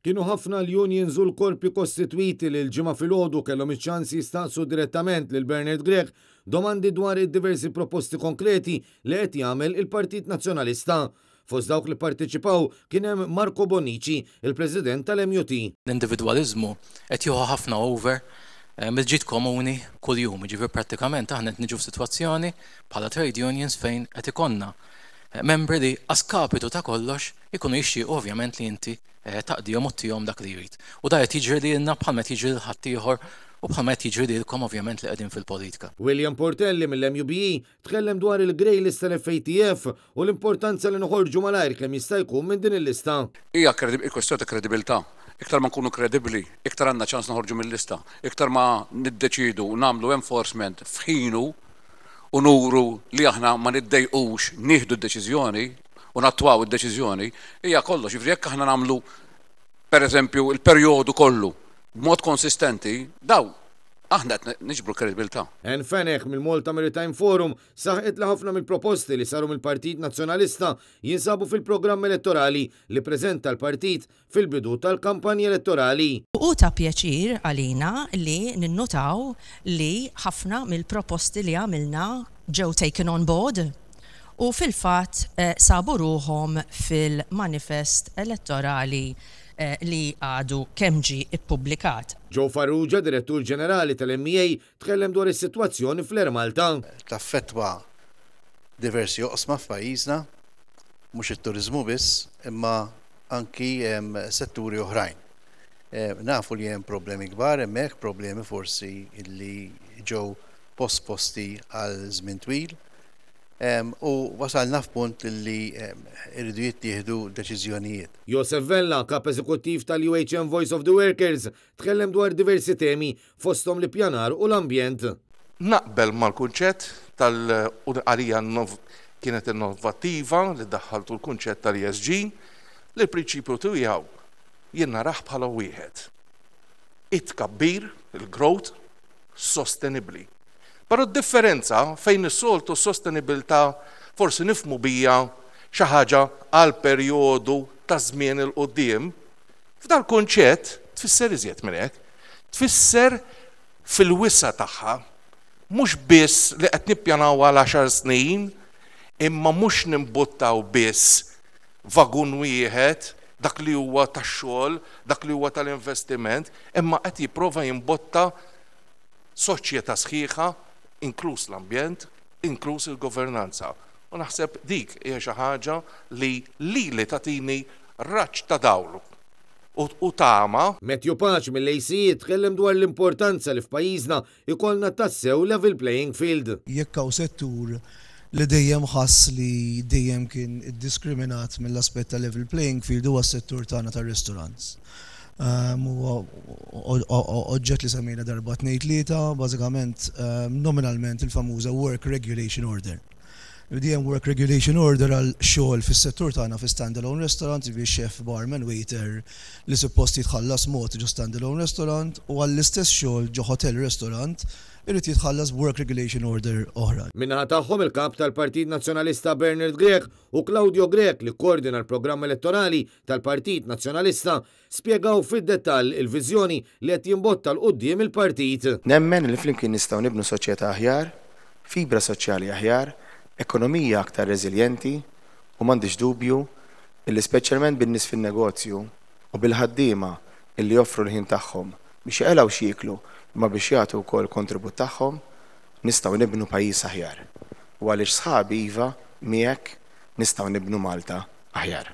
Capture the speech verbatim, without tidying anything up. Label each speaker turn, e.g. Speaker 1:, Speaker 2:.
Speaker 1: Kienu ħafna l-unions u l-korpi kostitwiti li l-Ġimgħa filgħodu kellhom iċ-ċans jistaqsu direttament lil Bernard Grech domandi dwar id-diversi proposti konkreti li qed jagħmel il-Partit Nazzjonalista. Fost dawk li parteċipaw kien hemm Marco Bonnici, il-President tal-M U T.
Speaker 2: L-individwaliżmu qed jieħu ħafna over eh, mill-ġid komuni kuljum, ġifieri prattikament aħna qed niġu f'sitwazzjoni bħala trade unions fejn qed ikollna eh, membri li a skapitu ta' kollox ikunu jixtiequ ovvjament li inti eh, taqdihom u ttihom dak li jrid. U da qed jiġri lilna bħalma qed jiġri lil ħaddieħor u bħalma qed jiġri lilkom ovvjament li qegħdin fil-politika.
Speaker 1: William Portelli mill-M U B E tkellem dwar il-grey list tal-F A T F u l-importanza li noħorġu malajr kemm jista' jkun minn din il-lista.
Speaker 3: Hija kwestjoni ta' kredibilità. Iktar ma nkunu kredibbli, iktar għandna ċans noħorġu mill-lista. Iktar ma niddeċidu u nagħmlu enforcement f'ħinu u nuru li aħna ma niddejqux nieħdu d-deċiżjoni u nattwaw id-deċiżjoni, hija kollox. Jiġifieri jekk aħna nagħmlu, per eżempju, il-perjodu kollu b'mod konsistenti, daw aħna qed niġbru kredibilità.
Speaker 1: Ann Fenech mill-Malta Maritime Forum saħqet li ħafna mill-proposti li saru mill-Partit Nazzjonalista jinsabu fil-programm elettorali li preżenta l-partit fil-bidu tal-kampanja elettorali.
Speaker 4: U ta' pjaċir għalina li ninnotaw li ħafna mill-proposti li għamilna ġew taken on board u fil-fatt eh, sabu ruħhom fil-manifest elettorali eh, li għadu kemm ġie ippubblikat.
Speaker 1: Joe Farrugia, Direttur Ġenerali tal-M E A, tkellem dwar is-sitwazzjoni fl-Air Malta.
Speaker 5: Taffettwa diversi oqsma f'pajjiżna, mhux it-turizmu biss, imma anki setturi oħrajn. Nafu li hemm problemi kbar hemmhekk, problemi forsi li ġew posposti għal żmien twil. U wasalna f'punt li irridu jittieħdu deċiżjonijiet.
Speaker 1: Josef Vella, kap eżekuttiv tal-U H M Voice of the Workers, tkellem dwar diversi temi, fosthom l-ippjanar u l-ambjent.
Speaker 6: Naqbel mal-kunċett tal-għalija kienet innovattiva li daħħaltu l-kunċett tal-E S G, li l-prinċipju tiegħu jien narah bħala wieħed. It-tkabbir, il-growth, sostenibli. Però d-differenza fejn is-soltu sostenibilità forsi nifhmu biha xi ħaġa għal perjodu ta' żmien 'il quddiem, f'dal kunċett tfisser iżjed minn hekk. Tfisser fil-wisa' tagħha, mhux biss li qed nippjanaw għal għaxar snin, imma mhux nimbuttaw biss vagun wieħed, dak li huwa tax-xogħol, dak li huwa tal-investiment, imma qed jipprova jimbotta soċjetà sħiħa, inkluż l-ambjent, inkluż il-governanza. U naħseb dik hija xi ħaġa li lili tagħtini raġġ ta' dawl u tama.
Speaker 1: Matthew Pace mill-A C E tkellem dwar l-importanza li f'pajjiżna ikollna tassew level playing field.
Speaker 7: Jekk hawn settur li dejjem ħass li dejjem kien iddiskriminat mill-aspett ta' level playing field, huwa s-settur tagħna tar-restaurants. Huwa oġġett li semmejna darba, tnejn, tlieta, bażikament nominalment il-famuża Work Regulation Order. Dejjem Work Regulation Order għal xogħol fis-settur tagħna fi standalone restaurant, bi chef, barman, waiter li suppost jitħallas mod ġo standalone restaurant u għall-istess xogħol ġo hotel restaurant irid jitħallas Work Regulation Order oħra.
Speaker 1: Min-naħa tagħhom, il-kap tal-Partit Nazzjonalista Bernard Grech u Claudio Grech, li koordina l-programm elettorali tal-Partit Nazzjonalista, spjegaw fid-dettall il-viżjoni li qed jimbotta 'l quddiem il-partit.
Speaker 8: Nemmen li flimkien nistgħu nibnu soċjetà aħjar, fibra soċjali aħjar, ekonomija aktar reżiljenti u m'għandix dubju illi speċjalment bin-nies fin-negozju u bil-ħaddiema illi joffru l-ħin tagħhom biex jaqilgħu x'jieklu imma biex jagħtu wkoll kontribut tagħhom, nistgħu nibnu pajjiż aħjar. U għaliex, sħabi, iva, miegħek nistgħu nibnu Malta aħjar.